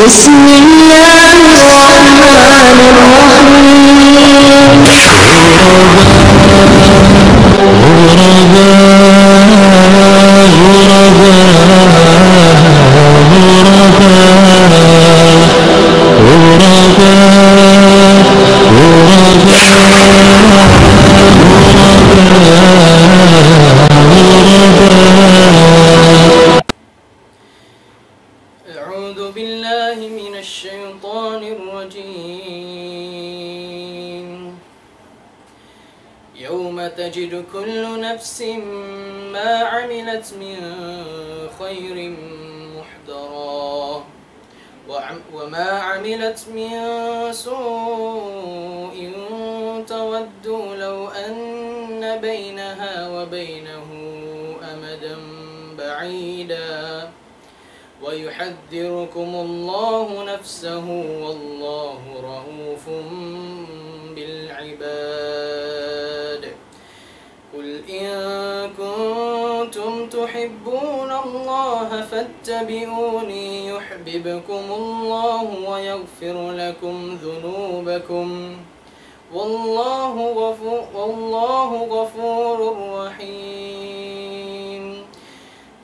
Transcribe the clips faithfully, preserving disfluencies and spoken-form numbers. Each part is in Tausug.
بسم الله الرحمن الرحيم. أعوذ بالله من الشيطان الرجيم. يوم تجد كل نفس ما عملت من خير محضرا وعم-، وما عملت من سوء تود لو أن بينها وبينه أمدا بعيدا ويحذركم الله نفسه والله رءوف بالعباد. قل إن كنتم تحبون الله فاتبعوني يحببكم الله ويغفر لكم ذنوبكم والله غفو-، والله غفور رحيم.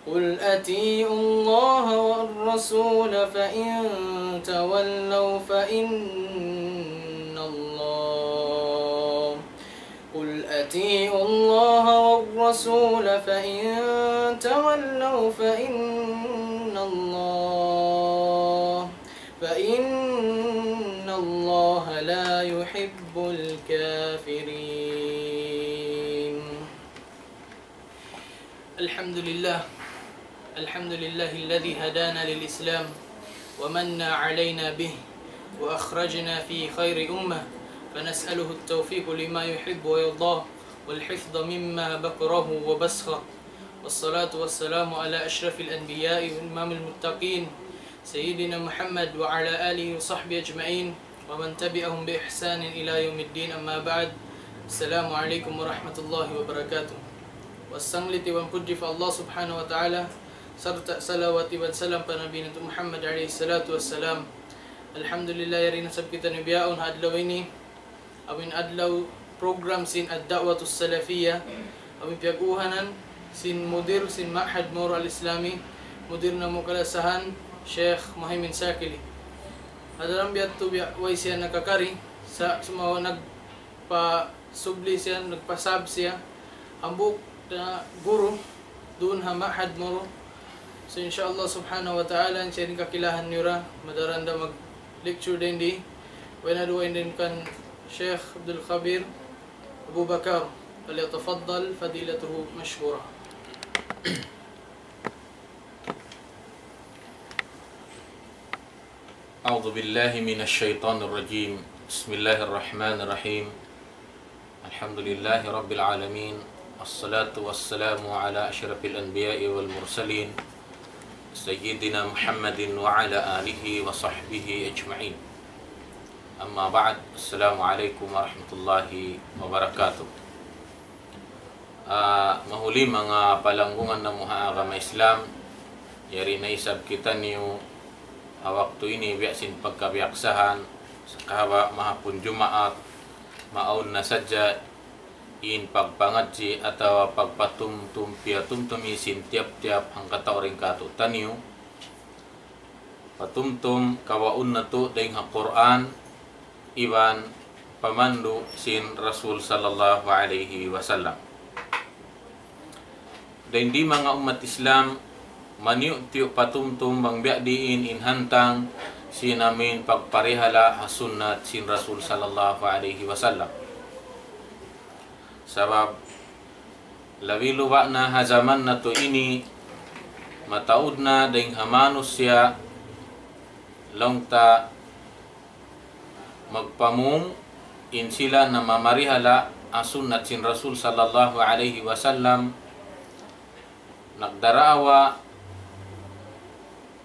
قل أطيعوا الله والرسول فإن تولوا فإن الله، قل أطيعوا الله والرسول فإن تولوا فإن الله، فإن الله لا يحب الكافرين. الحمد لله. الحمد لله الذي هدانا للإسلام ومن علينا به وأخرجنا في خير أمة، فنسأله التوفيق لما يحب ويرضاه والحفظ مما بكره وبسخه. والصلاة والسلام على أشرف الأنبياء وإمام المتقين سيدنا محمد وعلى آله وصحبه أجمعين ومن تبعهم بإحسان إلى يوم الدين، أما بعد. السلام عليكم ورحمة الله وبركاته. Wassangliti iban pudji pa Allah Subhanahu wa Ta'ala, sarta' salawat iban salam pa Nabi natu' Muhammad alayhi salatu wassalam. Alhamdulillah, yari na isab kitaniyu bihaun ha adlaw ini, amu in adlaw program sin Ad-Da'watus Salafiyah, amu in piyag-uhanan sin mudir sin Ma'had Moro Al-Islami, mudir namu' kalasahan, Sheikh Muhaymin Sakili. Hadaran biya' tu biya' way siya nakakari, sa' sumagawa' nagpasubli siya, nagpasab siya, hambuuk na guru, duun ha Ma'had Moro. So, insha Allah Subhanahu wa Ta'ala, in siya in kakilahan niyu ra, madaran da mag-lecture dayn di. Way na duwa in dayn kan Sheikh Abdul Khabir Abu Bakar, فليتفضل فضيلته مشكورا. أعوذ بالله من الشيطان الرجيم. بسم الله الرحمن الرحيم. الحمد لله رب العالمين. الصلاة والسلام على أشرف الأنبياء والمرسلين سيدنا محمد وعلى آله وصحبه أجمعين. أما بعد. السلام عليكم ورحمة الله وبركاته. Ah, mahuli manga palanggungan namu' ha agama Islam, yari na isab kitaniyu ha waktu ini biya' sin pagkabiyaksahan, sakahaba' mahapun Jumaat, maawn na sadja in pagpangadji' atawa pagpatumtum, piyatumtumi sin tiyap-tiyap hangkatau dayn kātu'niyu. Patumtum kawaun natu' dayn ha Qur'an iban pamandu' sin Rasul sallallahu alayhi wasallam. Dayn di manga ummat Islam, maniyu'-tiyu' patumtum bang biya' diin in hantang sin amu in pagparihala' ha sunnat sin Rasul sallallahu alayhi wasallam. Sabab labi luba' na ha jaman natu' ini, mataud na dayn ha manusiya', laung ta, magpamung in sila namamarihala' ha sunnat sin Rasul sallallahu alayhi wasallam, nagdaraawa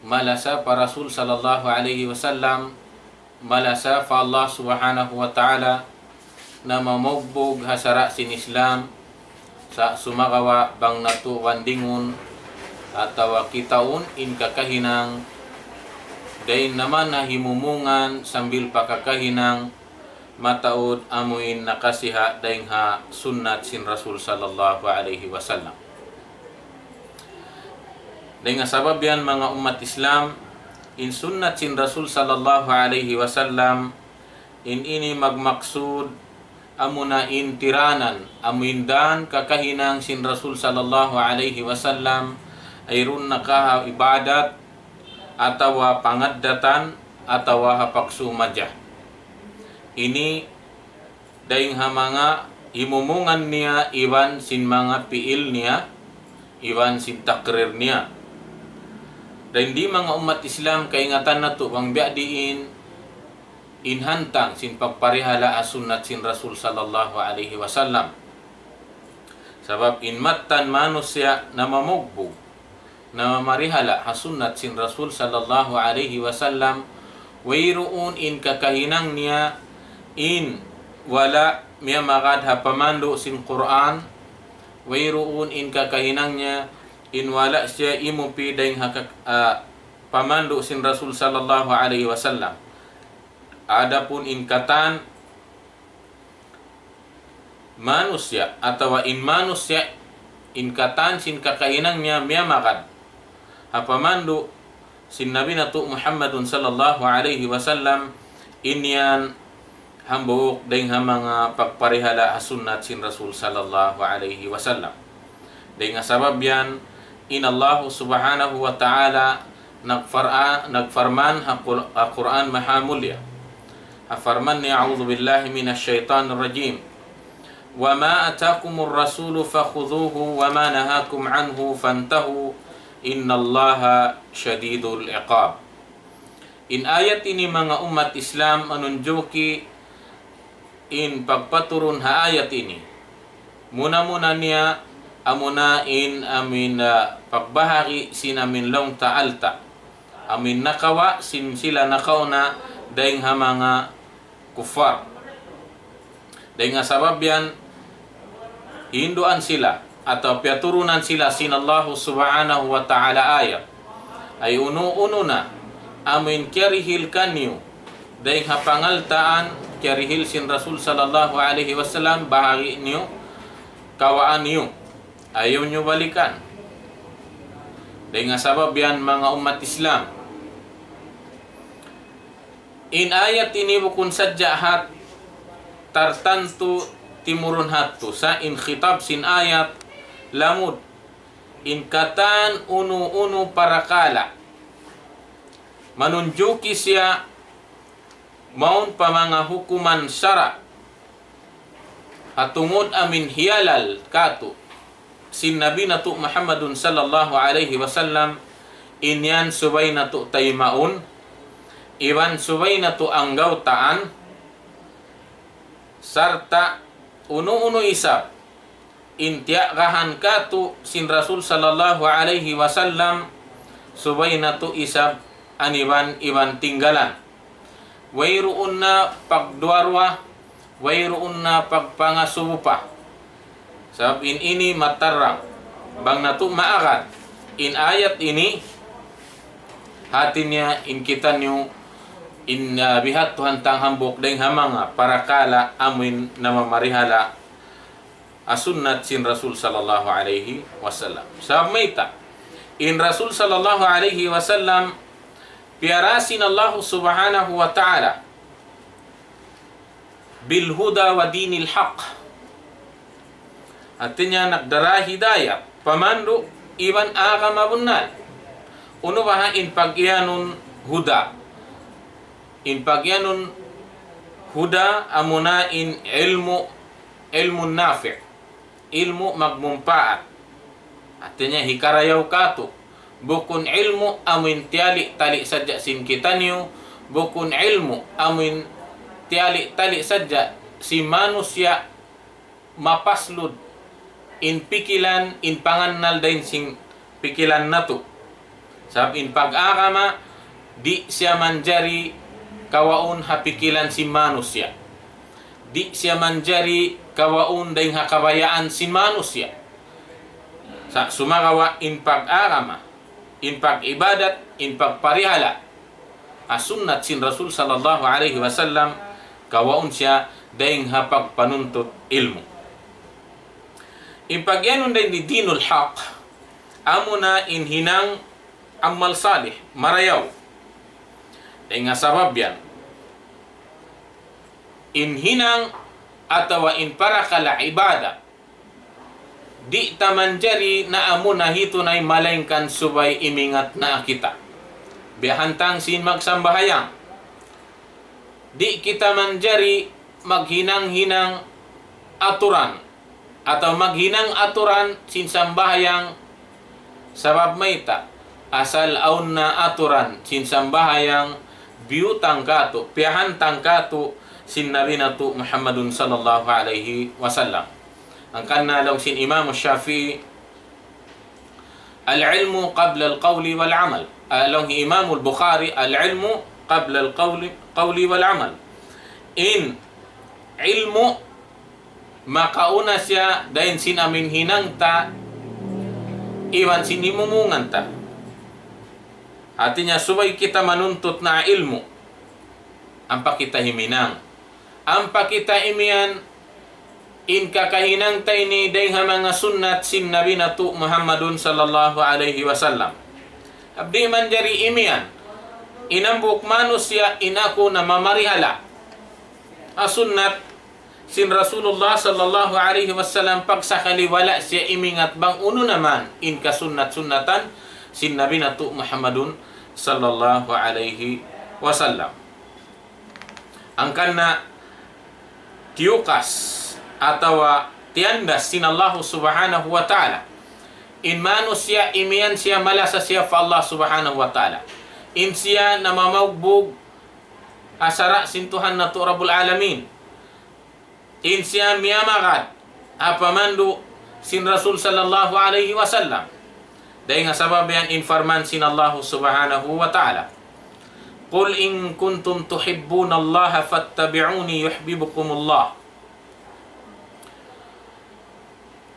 malasa pa Rasul sallallahu alayhi wasallam, malasa pa Allah Subhanahu wa Ta'ala, na mamugbug ha sara' sin Islam, sa' sumagawa' bang natu' bandingun, atawa kitaun in kakahinang dayn naman ha himumungan sambil pa kakahinang mataud amuin nakasiha dayn ha sunnat sin Rasul sallallahu alayhi wasallam. Dayn ha sabab yan, manga ummat Islam, in sunnat sin Rasul sallallahu alayhi wasallam, in ini magmaksud amuna in tiranan, amuin dan kakahinang sin Rasul sallallahu alayhi wasallam, ayruun na ka ha ibadat, atawa pangaddatan, atawa ha pagsumaja. Ini dayn ha manga himumungan niya iban sin manga piil niya, iban sin takrir niya. Dayn di, manga ummat Islam, kaingatan natu' bang biya' diin in hantang sin pagparihala' ha sunnat sin Rasul sallallahu alayhi wasallam. Sabab in mattan manusiya' namamugbug, namamarihala' ha sunnat sin Rasul sallallahu alayhi wasallam, wayruun in kakahinang niya in wala' miyamagad ha pamandu' sin Qur'an, wayruun in kakahinang niya in wala' siya imupi dayn ha kak-, ah, pamandu' sin Rasul sallallahu alayhi wasallam. Adapun in katan manusiya' atawa in manusiya' in katan sin kakahinang niya miyamagad ha pamandu' sin Nabi natu' Muhammadun sallallahu alayhi wasallam, in yan hambuuk dayn ha manga pagparihala' ha sunnat sin Rasul sallallahu alayhi wasallam. Dayn ha sabab yan, in Allahu subhanahu wa ta'ala nagfar-, nagparman ha Qur-, ha Qur'an mahamulliya. Ha parman niya, أعوذ بالله من الشيطان الرجيم. وما آتاكم الرسول فخذوه وما نهاكم عنه فانتهوا إن الله شديد العقاب. In ayat ini, manga ummat Islam, manunjuki in pagpaturun ha ayat ini. Muna-muna niya, amuna in amuin, ah, pagbahagi' sin amuin laung ta alta'. Amuin nakawa' sin sila nakauna dayn ha manga kuffar. Dayn ha sabab yan, hinduan sila, atawa piyaturunan sila sin Allahu subhanahu wa ta'ala ayat. Ay unu-unu na, amuin kiyarihil kaniyu, dayn ha pangaltaan, kiyarihil sin Rasul sallallahu alayhi wasallam, bahagi' niyu, kawaan niyu. Ayaw niyu balikan. Dayn ha sabab yan, manga ummat Islam, in ayat ini bukun sadja ha tartantu timurun ha adtu, sa' in khitab sin ayat lamud in katan unu-unu parakala'. Manunjuki siya mawn pa manga hukuman sara'. Ha tungud amuin hiyalal kātu' sin Nabi natu' Muhammadun sallallahu alayhi wasallam, in yan subay natu' taymaun, iban subay natu' anggawtaan, sarta' unu-unu isab in tiyagahan kātu' sin Rasul sallallahu alayhi wasallam, subay natu' isab aniban-iban tinggalan. Wayruun na pagduwa-ruwa, wayruun na pagpangasubu pa. Sabab in ini matarang. Bang natu' maagad in ayat ini, hati niya in kitaniyu, in, ah, biya' ha adtu hantang hambuuk dayn ha manga parakala' amuin namamarihala' ha sunnat sin Rasul sallallahu alayhi wasallam. Sabab mayta'? In Rasul sallallahu alayhi wasallam piyara sin Allahu subhanahu wa ta'ala بالهدى ودين الحق. Hati niya nagdara hidayat, pamandu' iban agama bunnal. Unu baha' in pagiyanun huda? In pagiyanun huda amuna in ilmu', ilmu' nafi', ilmu' magmumpaat. Hati niya hikarayaw kātu'. Bukun ilmu' amuin tiyali-tali sadja sin kitaniyu, bukun ilmu' amuin tiyali-tali sadja sin manusiya' mapaslud in pikilan, in pangannal dayn sin pikilan natu'. Sabab in pag-agama, di' siya manjari kawaun ha pikilan sin manusiya'. Di' siya manjari kawaun dayn ha kabayaan sin manusiya'. Sa' sumagawa' in pag-agama, in pag-ibadat, in pagparihala', ha sunnat sin Rasul sallallahu alayhi wasallam, kawaun siya dayng ha pagpanuntut ilmu'. In pagiyanun dayn di dinul haq, amuna in hinang amal salih, marayaw. Dayng ha sabab yan, in hinang atawa in parakala' ibadat, di' ta manjari na amuna hitunay malaingkan subay imingat na kita. Biya' hantang sin magsambahayang. Di' kita manjari maghinang-hinang aturan atawa maghinang aturan sin sambahayang, sabab mayta', asal awn na aturan sin sambahayang biyutang kātu', piyahantang kātu' sin Nabi natu' Muhammadun sallallahu alayhi wasallam. Hangkan na laung sin Imam Shafi'i, العلم قبل القول والعمل. Ah, laung hi Imam al-Bukhari, العلم قبل القول، قول والعمل. In ilmu' makauna siya dayn sin amin hinang ta, iban sin himumungan ta. Hāti niya, subay kita manuntut na ilmu', ampa kita himinang. Ampa kita imiyan, in kakahinang ta ini dayng ha manga sunnat sin Nabi natu' Muhammadun sallallahu alayhi wasallam. Di' manjari imiyan, in hambuuk manusiya' in aku namamarihala' ha sunnat sin Rasulullah sallallahu alayhi wasallam, pagsakali wala' siya imingat bang unu na man in kasunnat-sunnatan sin Nabi natu' Muhammadun sallallahu alayhi wasallam. Hangkan na tiyukas atawa tiyandas sin Allahu Subhanahu wa Ta'ala. In manusiya' imiyan siya malasa siya pa Allah Subhanahu wa Ta'ala. In siya namamaugbug ha sara' sin Tuhan natu' Rabbul Alamin. In siya miyamagad ha pamandu' sin Rasul sallallahu alayhi wasallam. Dayng ha sabab yan in parman sin Allahu Subhanahu wa Ta'ala, قل إن كنتم تحبون الله فاتبعوني يحببكم الله.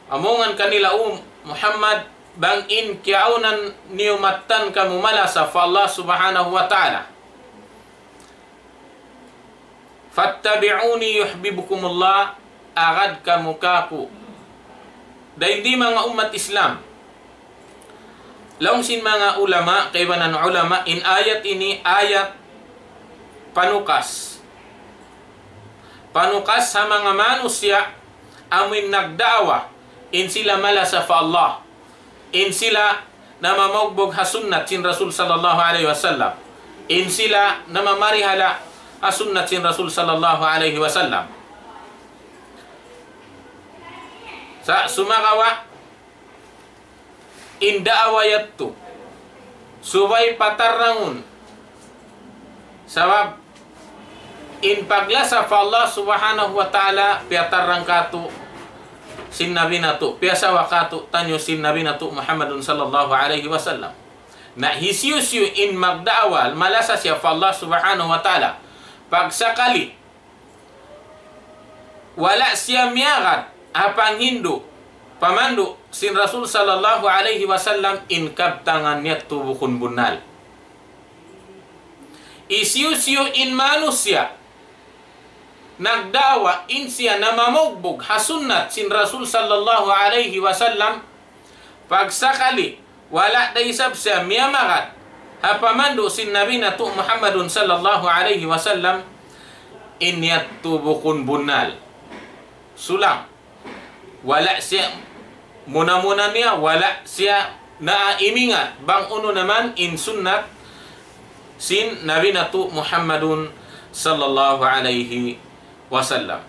Amungan kanila, O Muhammad, bang in kiyaunan niyu mattan kamu malasa pa Allah Subhanahu wa Ta'ala, فاتبعوني يحببكم الله, agad kamu kāku'. Dayn di manga ummat Islam. Laung sin manga ulama, kaibanan ulama, in ayat ini ayat panukas. Panukas ha manga manusiya' amuin nagda'wa, in sila malasa pa Allah. In sila namamaugbug ha sunnat sin Rasul sallallahu alayhi wasallam. In sila namamarihala' ha sunnat sin Rasul sallallahu alayhi wasallam. Sa' sumagawa' in da'wa yadtu, subay patarrangun. Sabab in paglasa pa Allah Subhanahu wa Ta'ala, piyatarrang kātu' sin Nabi natu', piyasawa kātu'niyu sin Nabi natu' Muhammadun sallallahu alayhi wasallam. Na hisiyu-siyu in magda'wa, malasa siya pa Allah Subhanahu wa Ta'ala, pagsakali wala' siya miyagad ha panghindu', pamandu' sin Rasul sallallahu alayhi wasallam, in kabtangan yadtu bukun bunnal. Hisiyu-siyu in manusiya' nagda'wa, in siya namamaugbug ha sunnat sin Rasul sallallahu alayhi wasallam, pagsakali wala' da isab siya miyamagad ha pamandu' sin Nabi natu' Muhammadun sallallahu alayhi wasallam, in yadtu bukun bunnal. Sulang. Wala' siya, muna-muna niya, wala' siya naimingat bang unu na man in sunnat sin Nabi natu' Muhammadun sallallahu alayhi wasallam.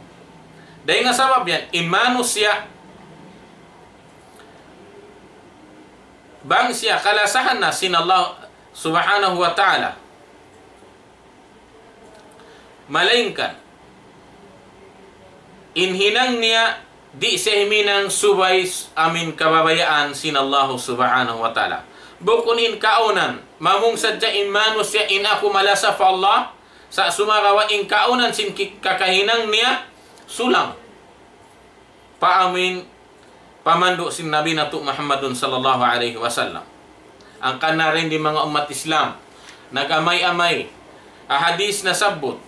Dayng ha sabab yan, in manusiya', bang siya kalasahan na sin Allah Subhanahu wa Ta'ala, malaingkan in hinang niya di' siya himinang subay s-, amuin kabayaan sin Allahu Subhanahu wa Ta'ala. Bukun in kaunan, mamung sadja in manusiya' in aku malasa pa Allah, sa' sumagawa' in kaunan sin ki-, kakahinang niya, sulang. Pa amuin pamandu' sin Nabi natu' Muhammadun sallallahu alayhi wasallam. Hangkan na dayn di manga ummat Islam, nag-amay-amay, ha hadith nasabbut,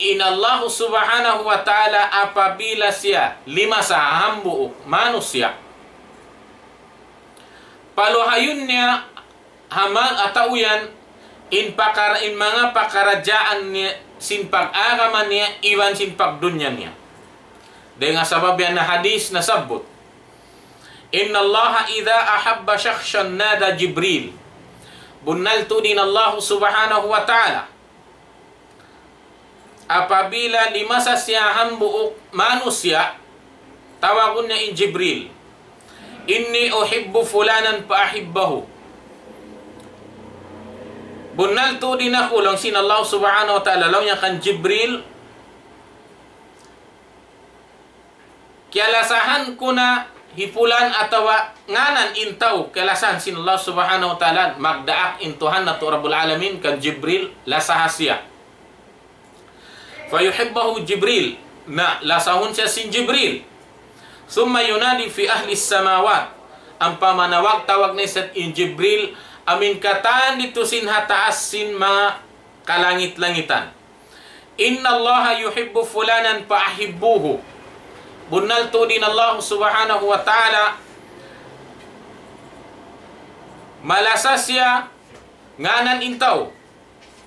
in Allah subhanahu wa ta'ala apabila siya limasa ha hambuuk manusiya', paluhayun niya ha ma-, ha tau yan, in pakara-, in manga pakaradjaan niya, sin pag-agama niya, iban sin pagdunya niya. Dayn ha sabab yan na hadith nasabbut, إن الله إذا أحب شخصا نادى جبريل. Bunnal tuud in Allah subhanahu wa ta'ala, apabila limasa siya hambuuk manusiya', tawagun niya in Jibril. إني أحب فلانا فأحبه. Bunnal tuud in aku, laung sin Allah subhanahu wa ta'ala, laung niya kan Jibril, kiyalasahan ku na hi fulan atawa ngānan in tau, kiyalasahan sin Allah subhanahu wa ta'ala, magdaak in Tuhan natu' Rabbul Alamin kan Jibril, lasaha siya. فيحبه جبريل. Na, lasahun siya sin Jibril. ثم ينادي في أهل السماوات. Ampa manawag-tawag na isab in Jibril, amuin katan didtu sin ha taas sin manga kalangit-langitan. إن الله يحب فلانا فأحبوه. Bunnal tuud in Allah subhanahu wa ta'ala, malasa siya ngānan in tau.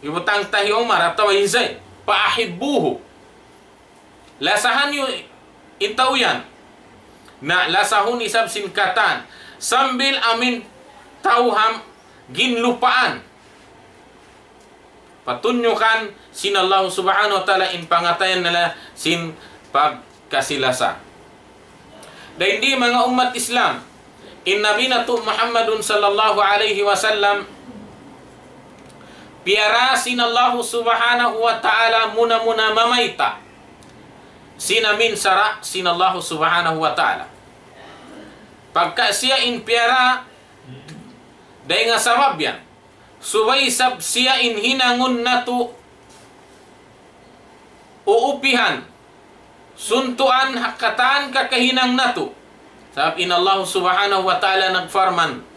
Hibutang ta hi Umar atawa hi Zaid. فأحبوه. Lasahan niyu in tau yan. Na, lasahun isab sin katan. Sambil amuin tau ha ginlupaan. Patunjukan sin Allah subhanahu wa ta'ala in pangatayan nila sin pagkasi-lasa. Dayn di manga ummat Islam, in Nabi natu' Muhammadun sallallahu alayhi wasallam, piyara sin Allah subhanahu wa ta'ala muna-muna mamayta' sin amuin sara' sin Allah subhanahu wa ta'ala. Pagka siya in piyara, dayn ha sabab yan, subay isab siya in hinangun natu' uupihan, suntuan ha katan kakahinang natu'. Sabab in Allah subhanahu wa ta'ala nagparman,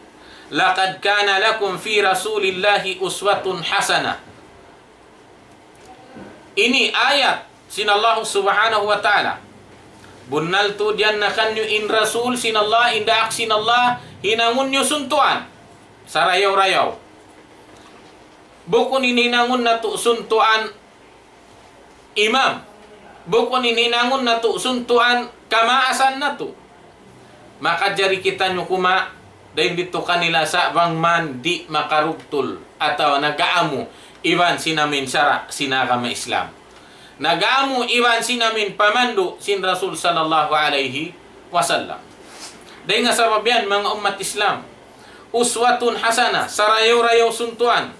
لقد كان لكم في رسول الله أسوة حسنة. Ini ayat sin Allah subhanahu wa ta'ala. Bunnal tuud yan na kaniyu in Rasul sin Allah, in daak sin Allah, hinangun niyu suntuan. Sarayaw-rayaw. Bukun in hinangun natu' suntuan imam. Bukun in hinangun natu' suntuan kamaasan natu'. Makajari kitaniyu kumawa' dayn didtu kanila sa' bang man di' makarugtul atawa nag-aamu iban sin amuin sara' sin agama Islam. Nag-aamu iban sin amuin pamandu' sin Rasul sallallahu alayhi wasallam. Dayn ha sabab yan, manga ummat Islam, uswatun hasana, sarayaw-rayaw suntuan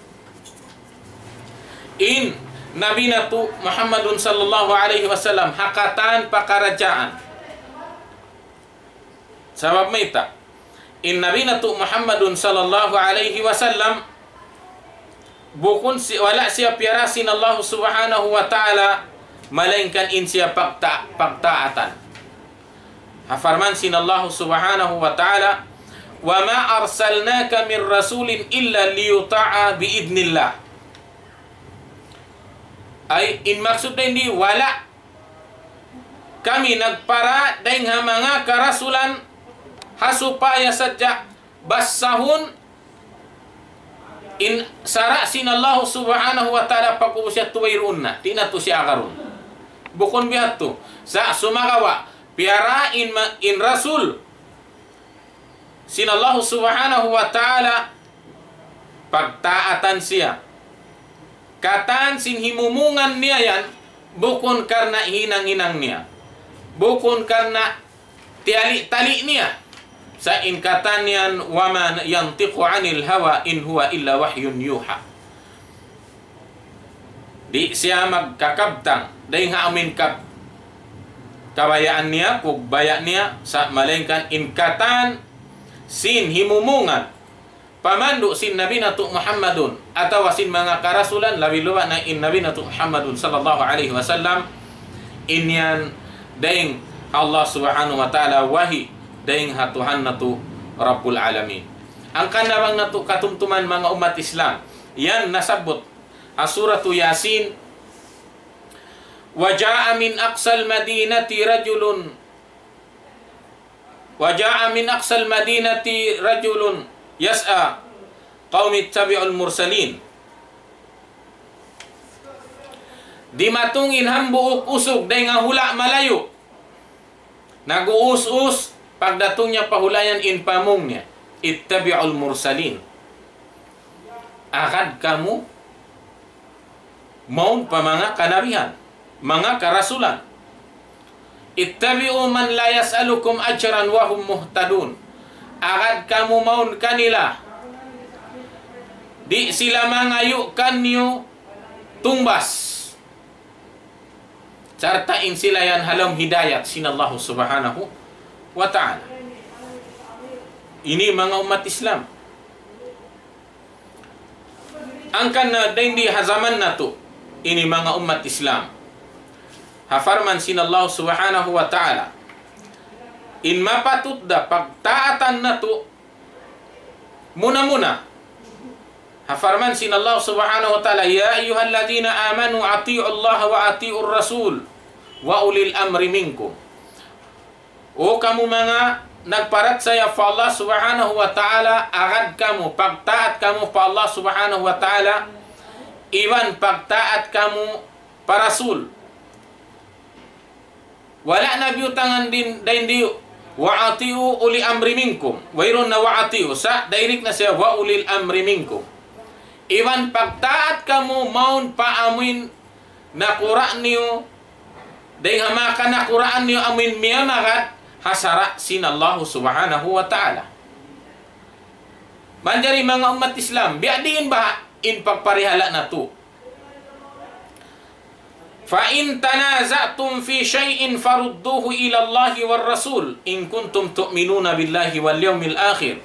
in Nabi natu' Muhammadun sallallahu alayhi wasallam ha katan pakaradjaan. Sabab mayta'? In Nabi natu' Muhammadun sallallahu alayhi wasallam, bukun si-, wala' siya piyara sin Allah subhanahu wa ta'ala, malaingkan in siya pagta-, pagtaatan. Ha parman sin Allah subhanahu wa ta'ala, وما أرسلناك من رسول إلا ليطاع بإذن الله. Ay, in maksud dayn di, wala' kami nagpara dayn ha manga karasulan ha supaya sadja basahun in sara' sin Allah subhanahu wa ta'ala pag'ubus yadtu wayruun na, di' na tuud siya agarun. Bukun biya' yadtu. Sa' sumagawa', piyara in ma-, in Rasul sin Allah subhanahu wa ta'ala, pagtaatan siya. Katan sin himumungan niya yan, bukun karna' hinang-hinang niya. Bukun karna' tiyali-tali niya. Sa' in katan yan, وما ينطق عن الهوى إن هو إلا وحي يوحى. Di' siya magkakabtang dayn ha amuin kab-, kabayaan niya, kugbaya' niya, sa' malaingkan in katan sin himumungan pamandu' sin Nabi natu' Muhammadun, atawa sin manga karasulan, labi-labi na in Nabi natu' Muhammadun sallallahu alayhi wasallam, in yan dayn Allah Subhanahu wa Ta'ala wahi dayn ha Tuhan natu' Rabbul Alamin. Hangkan na bang natu' katumtuman manga ummat Islam, yan nasabbut ha Suratu Yasin, وجاء من أقصى المدينة رجل وجاء من أقصى المدينة رجل يسعى قوم اتبعوا المرسلين. Dimatung in hambuuk usug dayn ha hula' malayu'. Nag-uus-us, pagdatung niya pa hula' yan in pamung niya, اتبعوا المرسلين. Agad kamu mawn pa manga kanabihan, manga karasulan. اتبعوا من لا يسألكم أجرا وهم مهتدون. Agad kamu mawn kanila, di' sila mangayu' kaniyu tungbas. Sarta' in sila yan ha lawm hidayat sin Allah Subhanahu wa Ta'ala. Ini manga ummat Islam. Hangkan na dayn di ha jaman natu', ini manga ummat Islam. Ha parman sin Allah Subhanahu wa Ta'ala. In mapatut da pagtaatan natu', muna-muna. Ha parman sin Allah Subhanahu wa Ta'ala, يا أيها الذين آمنوا أطيعوا الله وأطيعوا الرسول وأولي الأمر منكم. O kamu manga nagparachaya pa Allah Subhanahu wa Ta'ala, agad kamu, pagtaat kamu pa Allah Subhanahu wa Ta'ala, iban pagtaat kamu pa Rasul. Wala' na biyutangan dayn di, وأطيعوا أولي الأمر منكم. Wayruun na وأطيعوا. Sa' direct na siya, وأولي الأمر منكم. Iban pagtaat kamu mawn pa amuin nakura' niyu, dayn ha manga nakuraan niyu amuin miyamagad ha sara' sin Allah Subhanahu wa Ta'ala. Manjari manga ummat Islam, biya' diin baha' in pagparihala' natu'. فإن تنازعتم في شيء فردوه إلى الله والرسول إن كنتم تؤمنون بالله واليوم الآخر.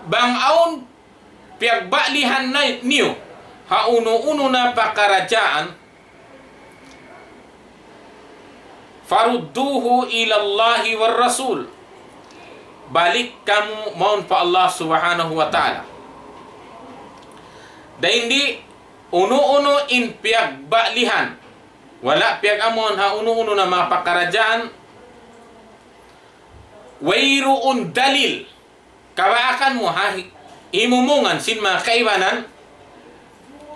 Bang awn piyagbalihan na niyu ha unu-unu na pakaradjaan, فردوه إلى الله والرسول. Balik kamu mawn pa Allah Subhanahu wa Ta'ala. Dayn di unu-unu in piyagbalihan, wala' piyag-amuan ha unu-unu na manga pakaradjaan, wayruun dalil, kabaakan mu ha hi-, himumungan sin manga kaibanan,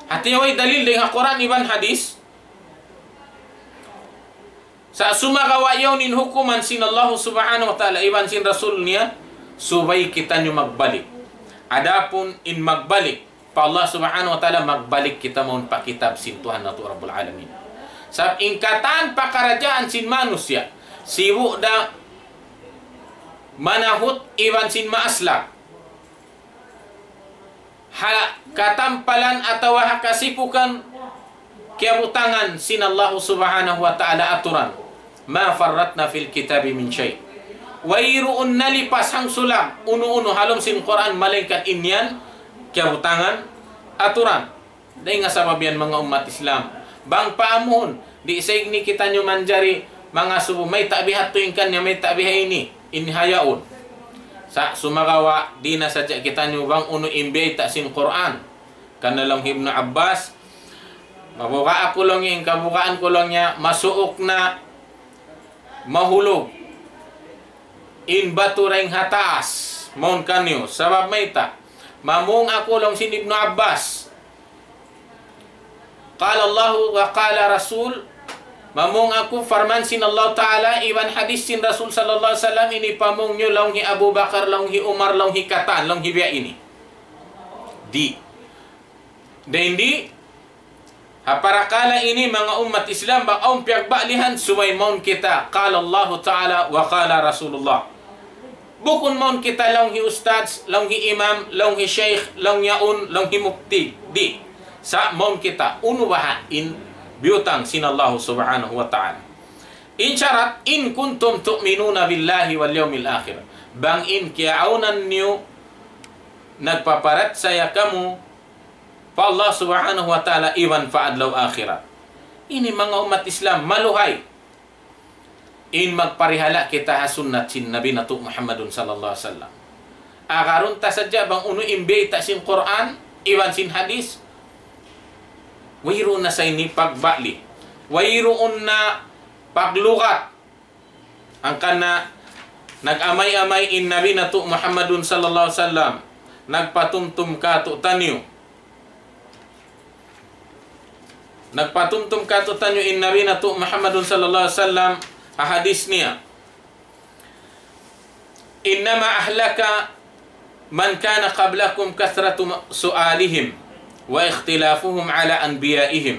hati way dalil dayn ha Qur'an iban hadith, sa' sumagawa' yaun in hukuman sin Allah Subhanahu wa Ta'ala iban sin Rasul niya, subay kitaniyu magbalik. Adapun in magbalik pa Allah Subhanahu wa Ta'ala, magbalik kita mawn pa kitab sin Tuhan natu' Rabbul Alamin. Sabab in katan pakaradjaan sin manusiya', sibu' da manahut iban sin maaslak. Ha katampalan atawa ha kasipukan kiyabutangan sin Allah Subhanahu wa Ta'ala aturan. ما فرطنا في الكتاب من شيء. Wayruun nalipas hangsulag unu-unu ha lawm sin Qur'an, malaingkan in yan kiyabutangan aturan. Dayn ha sabab yan manga ummat Islam. Bang paamuhun, di' sa ini kitaniyu manjari mangasubu, mayta' bihadtu in kaniya, mayta' biha ini, in hayaun. Sa' sumagawa', di' na sadja kitaniyu bang unu in biyayta' sin Qur'an. Karna' laung hi Ibnu Abbas, mabuga' aku laung in kabugaan ku laung niya, masuuk na mahulug in batu dayn ha taas, mawn kaniyu. Sabab mayta', mamung aku laung sin Ibnu Abbas. قال الله وقال رسول, mamung aku parman sin Allah Ta'ala, iban hadith sin Rasul sallallahu alayhi wasallam, ini pamung niyu laung hi Abu Bakar, laung hi Umar, laung hi katan, laung hi biya' ini. Di'. Dayn di, ha parakala' ini manga ummat Islam, bang awn piyagbalihan, subay mawn kita, قال الله تعالى وقال رسول الله. Bukun mawn kita laung hi ustadz, laung hi imam, laung hi shaykh, laung yaun, laung hi mufti. Di'. Sa' mawn kita, unu baha' in biyutang sin Allah Subhanahu wa Ta'ala. In sharat, إن كنتم تؤمنون بالله واليوم الآخر. Bang in kiyaawnan niyu nagpaparachaya kamu pa Allah Subhanahu wa Ta'ala iban pa adlaw akhirat. Ini manga ummat Islam, maluhay. in magparihala' kita ha sunnat sin Nabi natu' Muhammadun sallallahu alayhi wasallam. Agarun ta sadja bang unu in bayta' sin Qur'an, iban sin hadith, wayruun na sa ini pagbali. Wayruun na paglugat. Hangkan na nag-amay-amay in Nabi natu' Muhammadun sallallahu alayhi wasallam. Nagpatumtum kātu'niyu. Nagpatumtum kātu'niyu in Nabi natu' Muhammadun sallallahu alayhi wasallam ha hadith niya. إنما أهلك من كان قبلكم كثرة سؤالهم واختلافهم على أنبيائهم.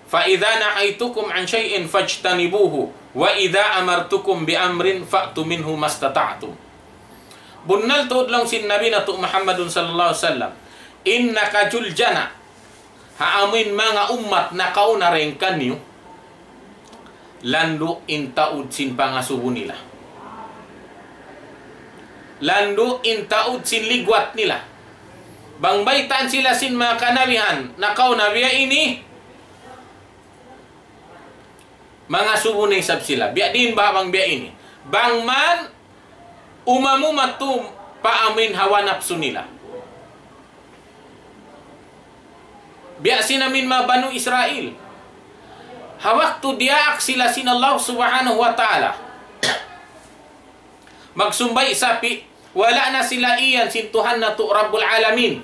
فإذا نهيتكم عن شيء فاجتنبوه، وإذا أمرتكم بأمر فأتوا منه ما استطعتم. Bunnal tuud laung sin Nabi natu' Muhammadun sallallahu alayhi wasallam, in nakajuljana ha amuin manga ummat nakauna dayn kaniyu, landu' in taud sin pangasubu nila. Landu' in taud sin ligwat nila. Bang baytaan sila sin manga kanabihan nakauna biya' ini, mangasubu na isab sila. Biya' diin ba bang biya' ini? Bang man umam-umam tu pa amuin hawa napsu nila. Biya' sin amuin manga Banu Israil. Ha waktu diyaak sila sin Allah Subhanahu wa Ta'ala magsumbay' sapi', wala' na sila iyan sin Tuhan natu' Rabbul Alamin.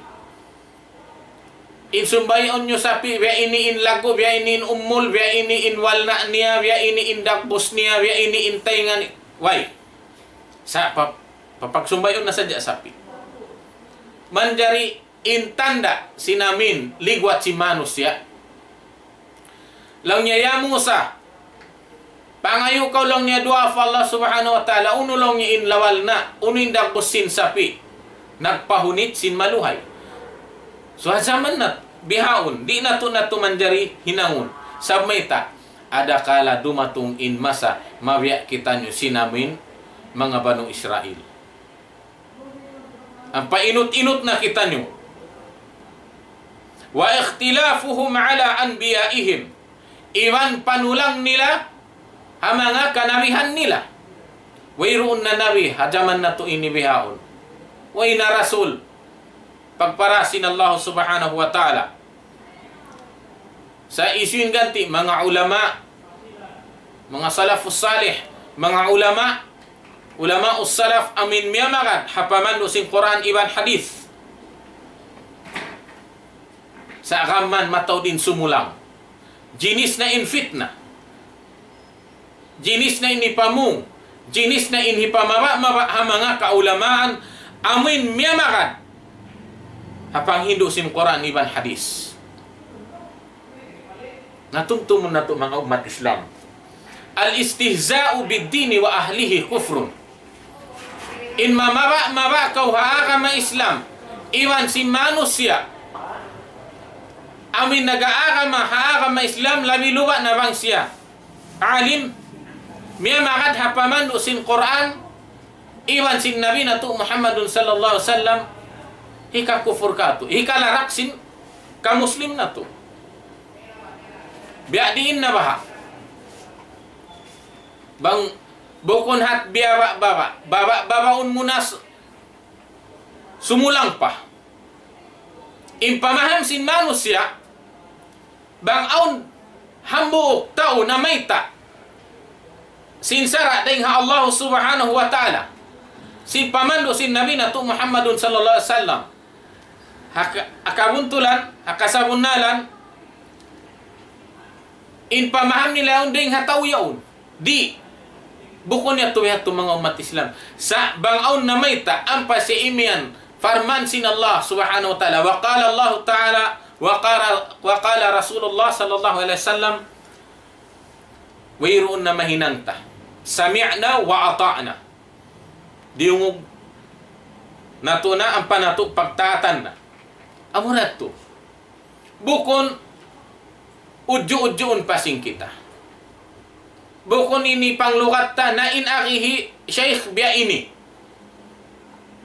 In sumbay'un niyu sapi', biya' ini in lagu, biya' ini in umul, biya' ini in walna' niya, biya' ini in dagbus niya, biya' ini in taynga niya. Way. Sa' pa-, papagsumbay'un na sadja sapi'. Manjari in tanda' sin amuin ligwat sin manusiya'. Laung niya, "Ya Musa, pangayu' kaw," laung niya, "duwaa pa Allah Subhanahu wa Ta'ala, unu," laung niya, "in lawal na, unu in dagbus sin sapi', nagpahunit sin maluhay." So, ha jaman natu' bihaun, di' natu', natu' manjari hinangun. Sabab mayta', adakala dumatung in masa, mabiya' kitaniyu sin amuin manga Banu Israil. Ampa inut-inut na kitaniyu. وَاخْتِلَافُهُمْ عَلَى أَنْبِيَائِهِمْ. Iban panulang nila ha manga kanabihan nila. Wayruun na nabi ha jaman natu' ini bihaun. Way na rasul. Pagpara sin Allah Subhanahu wa Ta'ala. Sa' hisiyu in ganti', manga ulama, manga salafus salih, manga ulama, ulama'us salaf amuin miyamagad ha pamandu' sin Qur'an iban hadith. Sa' gām man mataud in sumulang. Jinis na in fitna. Jinis na in hipamung, jinis na in hipamaba'-maba' ha manga kaulamaan, amuin miyamagad ha panghindu' sin Qur'an iban hadith. Na tumtumun natu' manga ummat Islam. الاستهزاء بالدين وأهله كفر. In mamaba'-maba' kaw ha agama Islam, iban sin manusiya', amuin nag-aagama ha agama Islam, labi luba' na bang siya alim, miyamagad ha pamandu' sin Qur'an, iban sin Nabi natu' Muhammadun sallallahu alayhi wasallam, hikakufur kātu', hikalarak sin kamuslim natu'. Biya' diin na baha'. Bang bukun hat biyaba'-baba', baba'-babaun mu na s-, sumulang pa. In pamaham sin manusiya', bang awn hambuuk tau namayta' sin sara' dayn ha Allah Subhanahu wa Ta'ala, sin pamandu' sin Nabi natu' Muhammadun sallallahu alayhi wasallam, ha ka-, ha kabuntulan, ha kasabunnalan, in pamaham nila yaun dayn ha tau yaun. Di'. Bukun yadtu, yadtu manga ummat Islam. Sa' bang awn namayta', ampa siya imiyan, parman sin Allah Subhanahu wa Ta'ala. وقال الله تعالى، وقال، وقال رسول الله صلى الله عليه وسلم, wayruun na mahinang ta. سمعنا وأطعنا. Diyungug natu' na, ampa natu' pagtaatan na. Amura yadtu. Bukun udju'-udjuun pa sin kita. Bukun ini panglugat ta, na in agi hi Shaykh biya' ini.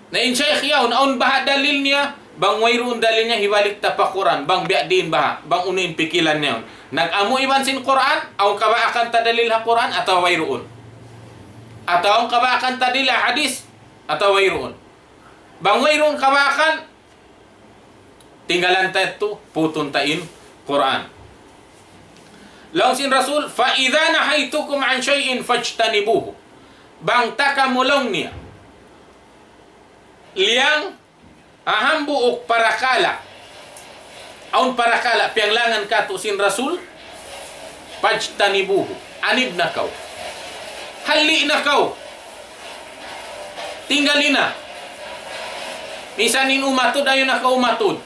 Na in Shaykh yaun, awn baha' dalil niya, bang wayruun dalil niya, hibalik ta pa Qur'an, bang biya' diin baha', bang unu in pikilan niya yaun. Nag-amu iban sin Qur'an, awn kabaakan ta dalil ha Qur'an, atawa wayruun. Atawa awn kabaakan ta dila hadith, atawa wayruun. Bang wayruun kabaakan, tinggalan ta yadtu, putun ta in Qur'an. Laung sin Rasul, فإذا نهيتكم عن شيء فاجتنبوه. Bang ta kamu laung niya liyang ha hambuuk parakala', awn parakala' piyanglangan kātu' sin Rasul, فاجتنبوه. Anib na kaw. Halli' na kaw. Tinggali na. Misan in umatud, ayaw na kaw umatud.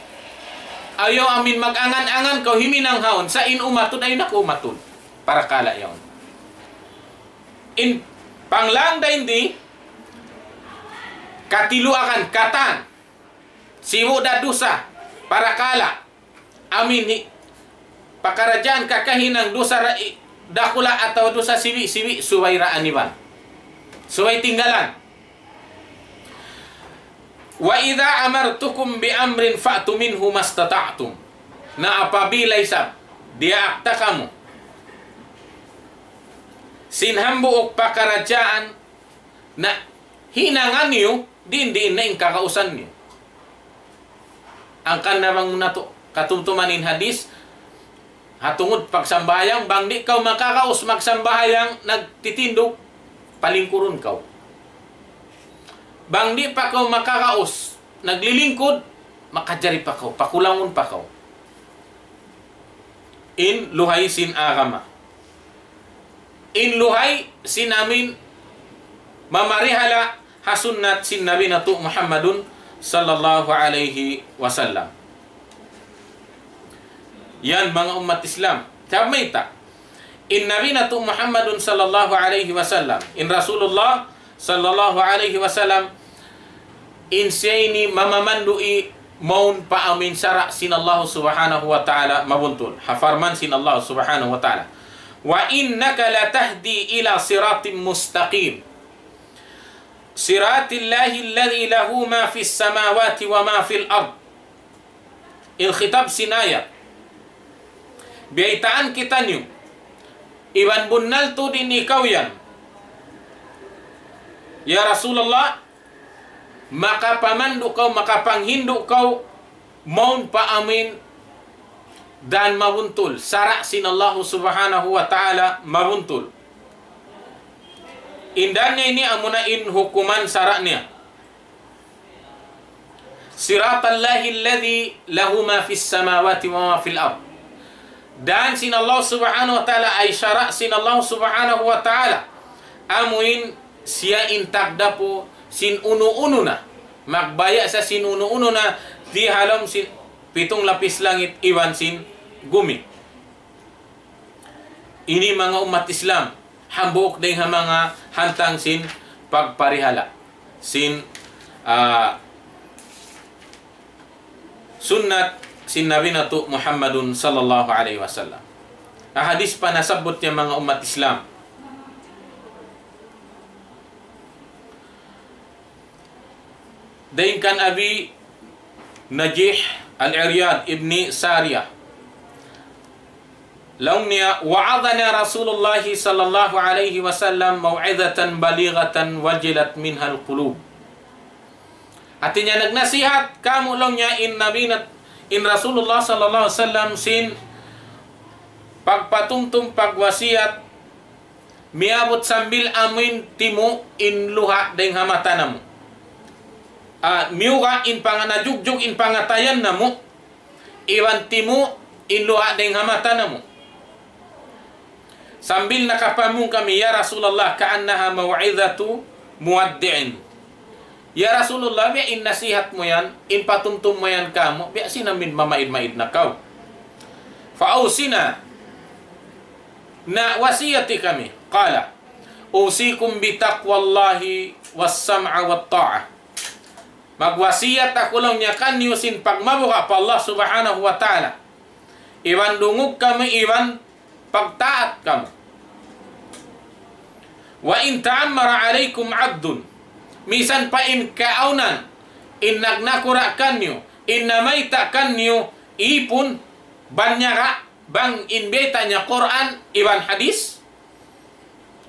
Ayaw amin mag-angan-angan kaw himinang haun, sa' in umatud, ayaw na kaw umatud. Parakala' yaun. In panglang dayn di, katiluakan, katan, sibu' da dusa, parakala', amin hi-, pakaradjaan kakahinang dusa ra-, i-, dakula' atawa dusa sibi'-sibi', subay ra aniban. Subay tinggalan. وإذا أمرتكم بأمر فأتوا منه ما استطعتم. Na apabila isab diyaak ta kamu sin hambuuk pakaradjaan, na hinangan niyu, diin-diin na in kakausan niyu. Hangkan na bang natu' katumtuman in hadith, ha tungud pagsambahayang, bang di' kaw makakaus magsambahayang, nagtitindug, palingkurun kaw. Bang di' pa kaw makakaus naglilingkud, makajari pa kaw, pakulangun pa kaw. In luhay sin agama. In luhay sin amin mamarihala' ha sunnat sin Nabi natu' Muhammadun sallallahu alayhi wasallam. Yan manga ummat Islam. Sabab mayta', in Nabi natu' Muhammadun sallallahu alayhi wasallam, in Rasulullah sallallahu alayhi wasallam, in siya ini mamamandu' mawn pa amin sara' sin Allah subhanahu wa ta'ala mabuntul. Ha parman sin Allah subhanahu wa ta'ala. وإنك لتهدي إلى صراط مستقيم. صراط الله الذي له ما في السماوات وما في الأرض. In khitab sin ayat. Biyaytaan kitaniyu. Iban bunnal tuud in ikaw yan. Ya Rasulullah, makapamandu' kaw, makapanghindu' kaw, mawn pa amin dan mabuntul, sara' sin Allahu subhanahu wa ta'ala mabuntul. In dan niya ini amuna in hukuman sara' niya. صراط الله الذي له ما في السماوات وما في الأرض. Dan sin Allah subhanahu wa ta'ala, ay sara' sin Allah subhanahu wa ta'ala. Amuin siya in tagdapu sin unu-unu na. Magbaya' sa sin unu-unu na di ha lawm sin pitung lapis langit iban sin gumi. Ini manga ummat Islam, hambuuk dayn ha manga hantang sin pagparihala' sin, ah, sunnat sin Nabi natu' Muhammadun sallallahu alayhi wasallam. Ha hadith pa nasabbut niya manga ummat Islam. Dayn kan Abi Najih Al-Iryad ibni Sariyah. Laung niya, وعظنا رسول الله صلى الله عليه وسلم موعظة بليغة وجلت منها القلوب. Hati niya nagnasihat kāmu' laung niya in Nabi nat-, in Rasulullah sallallahu alayhi wasallam sin pagpatumtum pagwasiyat miyabut sambil amuin timu' in luha' dayng ha mata namu'. Ah, miyuga' in panga-, najugjug in pangatayan namu', iban timu' in luha' dayng ha mata namu'. Sambil nakapamung kami, "Ya Rasulullah, كأنها موعظة مودع." Ya Rasulullah, biya' in nasihat mu yan, in patumtum mu yan kāmu', biya' sin amin mamaid-maid na kaw. فأوصنا. Na wasiyati kami. قال: أوصيكم بتقوى الله والسمع والطاعة. Magwasiyat aku laung niya kaniyu sin pagmabuga' pa Allah Subhanahu wa Ta'ala. Iban dungug kamu, iban pagtaat kamu. وإن تأمر عليكم عبد. Misan pa in kaawnan, in nagnakura' kaniyu, in namayta' kaniyu, ipun, banyaga', bang in bayta' niya Qur'an, iban hadith,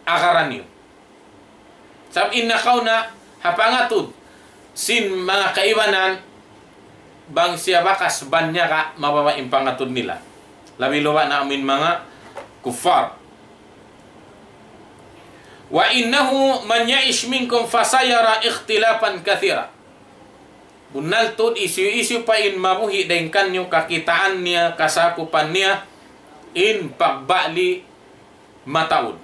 agaran niyu. Sabab in nakauna ha pangatud sin manga kaibanan, bang siya bakas banyara mababa' in pangatud nila. Labi-labi na amin manga kuffar. وإنه من يعش منكم فسيرى اختلافا كثيرا. Bunnal tuud hisiyu-siyu pa in mabuhi' dayn kaniyu kakitaan niya, kasakupan niya, in pagbali mataud.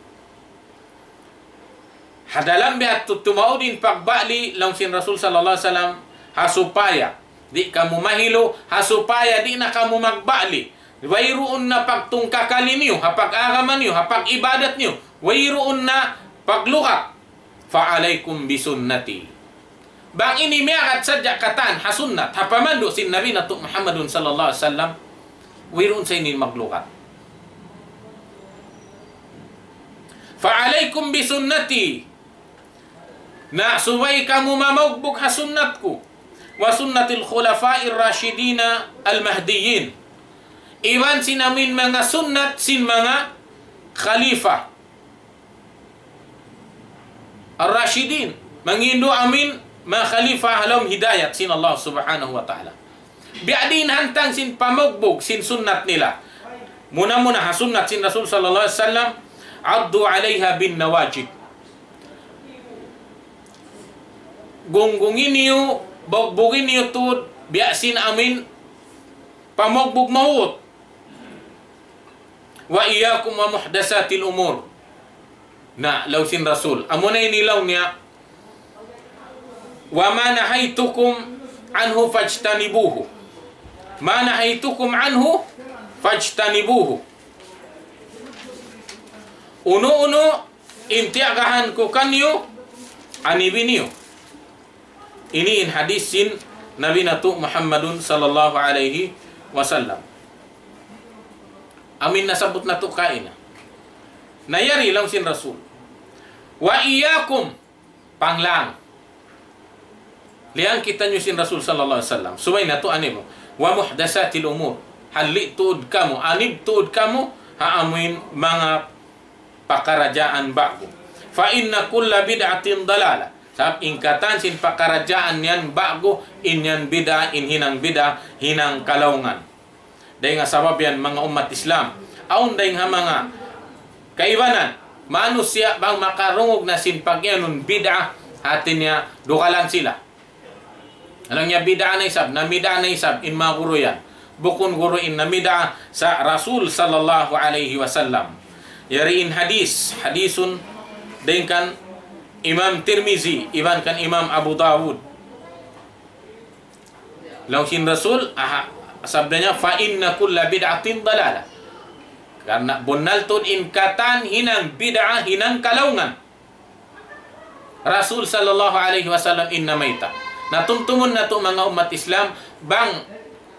Ha dalam biya' tuud tumaud in pagbali, laung sin Rasul sallallahu alayhi wasallam, ha supaya di' kamu mahilu, ha supaya di' na kamu magbali. Wayruun na pagtungkakali niyu, ha pag-agama niyu, ha pag-ibadat niyu, wayruun na paglukat. فعليكم بسنتي. Bang ini miyagad sadja katan ha sunnat, ha pamandu' sin Nabi natu' Muhammadun sallallahu alayhi wasallam, wayruun sa ini maglukat. فعليكم بسنتي. Na subay kamu mamugbug ha sunnat ku. وسنة الخلفاء الراشدين المهديين. Iban sin amin manga sunnat sin manga khalifa ar-rashidin, mangindu' amin manga khalifa ha lawm hidayat sin Allah Subhanahu wa Ta'ala. Biya' diin hantang sin pamugbug sin sunnat nila. Muna-muna ha sunnat sin Rasul sallallahu alayhi wasallam, عضوا عليها بالنواجذ. Gunggungi niyu, bugbugi niyu tuud, biya' sin amin pamugbug mawut. وإياكم ومحدثات الأمور. Na, laung sin Rasul. Amuna ini laung niya, وما نهيتكم عنه فاجتنبوه. ما نهيتكم عنه فاجتنبوه. Unu-unu in tiyagahan ku kaniyu, anibi niyu. Ini in hadis sin Nabi natu' Muhammadun sallallahu alayhi wasallam. Amin nasabbut natu' kaina. Na yari laung sin Rasul. وإياكم, panglang. Liyang kitaniyu sin Rasul sallallahu alayhi wasallam. Subay natu' anibu. ومحدثات الأمور. Halli' tuud kamu, anib tuud kamu, ha amuin manga pakaradjaan ba'gu. فإن كل بدعة ضلالة. Sabab in katan sin pakaradjaan yan ba'gu, in yan bid'ah, in hinang bid'ah, hinang kalaungan. Dayn ha sabab yan manga ummat Islam. Awn dayn ha manga kaibanan, manusiya' bang makarungug na sin pag-iyanun bid'ah, hati niya dugalan sila. Laung niya bid'ah na isab, namid'ah na isab, in manga guru yan. Bukun guru in namid'ah sa Rasul sallallahu alayhi wasallam. Yari in hadis, hadisun dayn kan Imam Tirmizi, iban kan Imam Abu Dawud. Laung sin Rasul, aha, sabda niya, فإن كل بدعة ضلالة. Karna' bunnal tuud in katan hinang bid'ah, hinang kalaungan. Rasul sallallahu alayhi wasallam in namayta'. Na tumtumun natu' manga ummat Islam, bang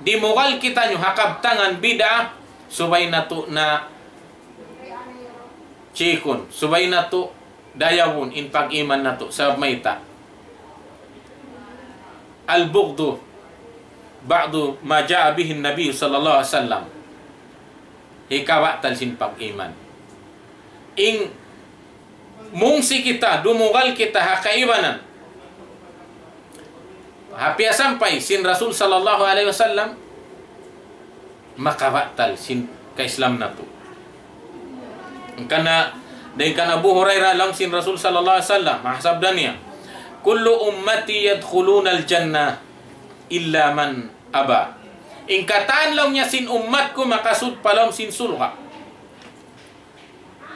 dimugal kitaniyu ha kabtangan bid'ah, subay natu' na chikun, subay natu' dayawun in pag-iman natu', sabab mayta'. البغض بعض ما جاء به النبي صلى الله عليه وسلم. Hikabatal sin pag-iman. In mungsi kita, dumugal kita ha kaibanan. Ha piyasampay sin Rasul sallallahu alayhi wasallam, makabatal sin kaislam natu'. Karna' dayn kan Abu Hurairah laung sin Rasul sallallahu alayhi wasallam, ha sabda niya, كل أمتي يدخلون الجنة إلا من أبى. In katan laung niya sin ummat ku makasud pa lawm sin surga'.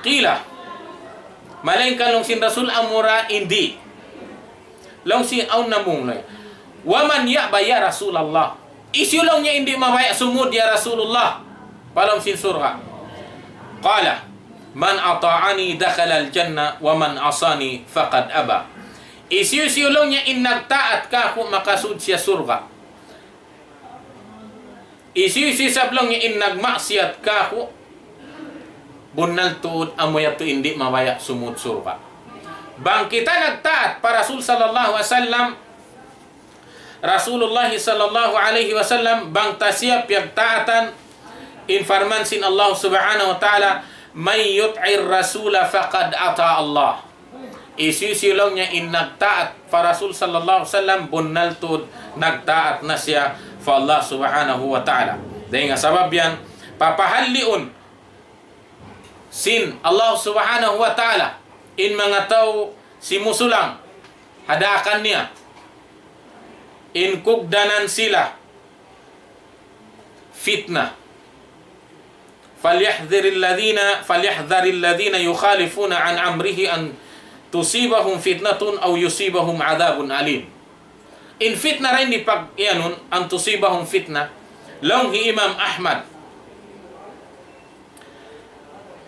قيل. Malaingkan laung sin Rasul amura in di'. Laung sin awn namung laung. ومن يأبى يا رسول الله. Hisiyu laung niya in di' mabaya' sumud ya Rasulullah pa lawm sin surga'. قال من أطاعني دخل الجنة ومن عصاني فقد أبى. Hisiyu-siyu laung niya in nagtaat kaku' makasud siya surga'. Hisiyu-siyu isab laung niya in nagmaksiyat kaku', bunnal tuud amu yadtu in di' mabaya' sumud surga'. Bang kita nagtaat pa Rasul sallallahu alayhi wasallam, Rasulullah sallallahu alayhi wasallam, bang ta siya piyagtaatan, in parman sin Allah subhanahu wa ta'ala, من يطع الرسول فقد أطاع الله. Hisiyu-siyu laung niya in nagtaat pa Rasul sallallahu alayhi wasallam, bunnal tuud nagtaat na siya pa Allah subhanahu wa ta'ala. Dayn ha sabab yan, papahalliun sin Allah subhanahu wa ta'ala in manga tau simusulang ha daakan niya, in kugdanan sila fitna. فليحذر الذين، فليحذر الذين يخالفون عن أمره أن تصيبهم فتنة أو يصيبهم عذاب أليم. In fitna dayn di pag-iyanun, أن تصيبهم فتنة. Laung hi Imam Ahmad,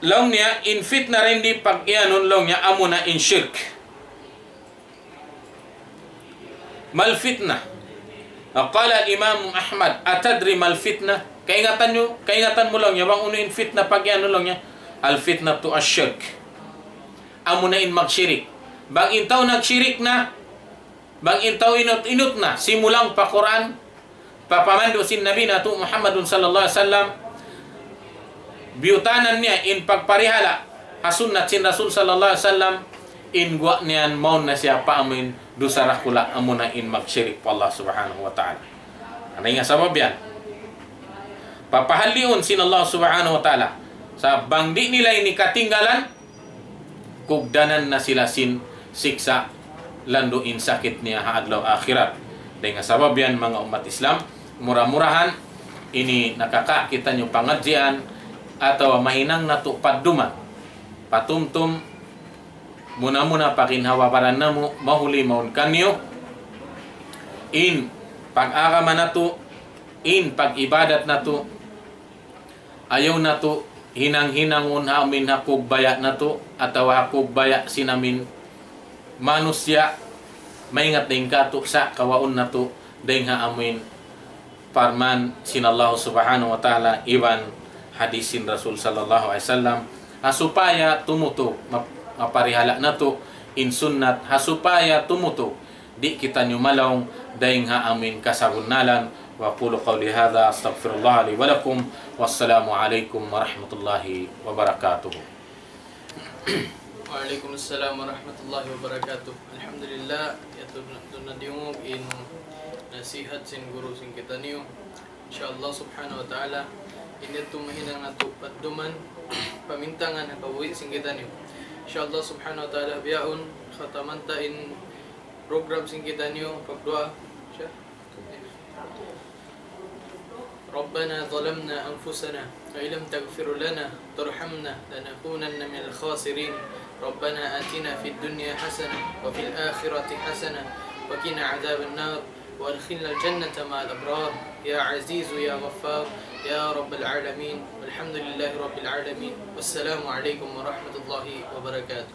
laung niya, in fitna dayn di pag-iyanun, laung niya, amuna in shirk. ما الفتنة؟ قال الإمام أحمد: أتدري ما الفتنة؟ Kaingatan niyu, kaingatan mu laung niya, bang unu in fitna pag-iyanun laung niya? الفتنة الشرك. Amuna in magshirik. Bang in tau nagshirik na, bang in tau inut-inut na, simulang pa Qur'an, pa pamandu' sin Nabi natu' Muhammadun sallallahu alayhi wasallam, biyutanan niya in pagparihala' ha sunnat sin Rasul sallallahu alayhi wasallam, in guwa' niya yan mawn na siya pa amuin dusa dakula', amuna in magshirik pa Allah subhanahu wa ta'ala. Dayn ha sabab yan, papahalliun sin Allah subhanahu wa ta'ala. Sa' bang di' nila ini katinggalan, kugdanan na sila sin siksa' landu' in sakit niya ha adlaw akhirat. Dayn ha sabab yan, manga ummat Islam, mura-murahan ini nakaka-, kitaniyu pangadjian atawa mahinang natu' padduman. Patumtum, muna-muna pa ginhawa-baran namu', mahuli mawn kaniyu in pag-agama natu', in pag-ibadat natu', ayaw natu' hinang-hinangun ha amin ha kugbaya' natu', atawa ha kugbaya' sin amin manusiya', maingat dayn kātu' sa' kawaun natu' dayn ha amin parman sin Allah subhanahu wa ta'ala iban hadis sin Rasul sallallahu alayhi wasallam, ha supaya tumutug, map-, maparihala' natu' in sunnat, ha supaya tumutug di' kitaniyu malaung dayn ha amin kasabunnalan. وأقول قولي هذا، أستغفر الله لي ولكم، والسلام عليكم ورحمة الله وبركاته. وعليكم السلام ورحمة الله وبركاته. Alhamdulillah, yadtu na, yadtu na diyungug in nasihat sin guru sin kitaniyu. Insha Allah subhanahu wa ta'ala, in yadtu mahinang natu' padduman, pamintangan ha kabuhi' sin kitaniyu. Insha Allah subhanahu wa ta'ala, bihaun, khataman ta in program sin kitaniyu, pagduwaa. Siya? ربنا ظلمنا أنفسنا وإن لم تغفر لنا وترحمنا لنكونن من الخاسرين. ربنا آتنا في الدنيا حسنة وفي الآخرة حسنة وقنا عذاب النار وأدخلنا الجنة مع الأبرار يا عزيز يا غفار يا رب العالمين. والحمد لله رب العالمين. والسلام عليكم ورحمة الله وبركاته.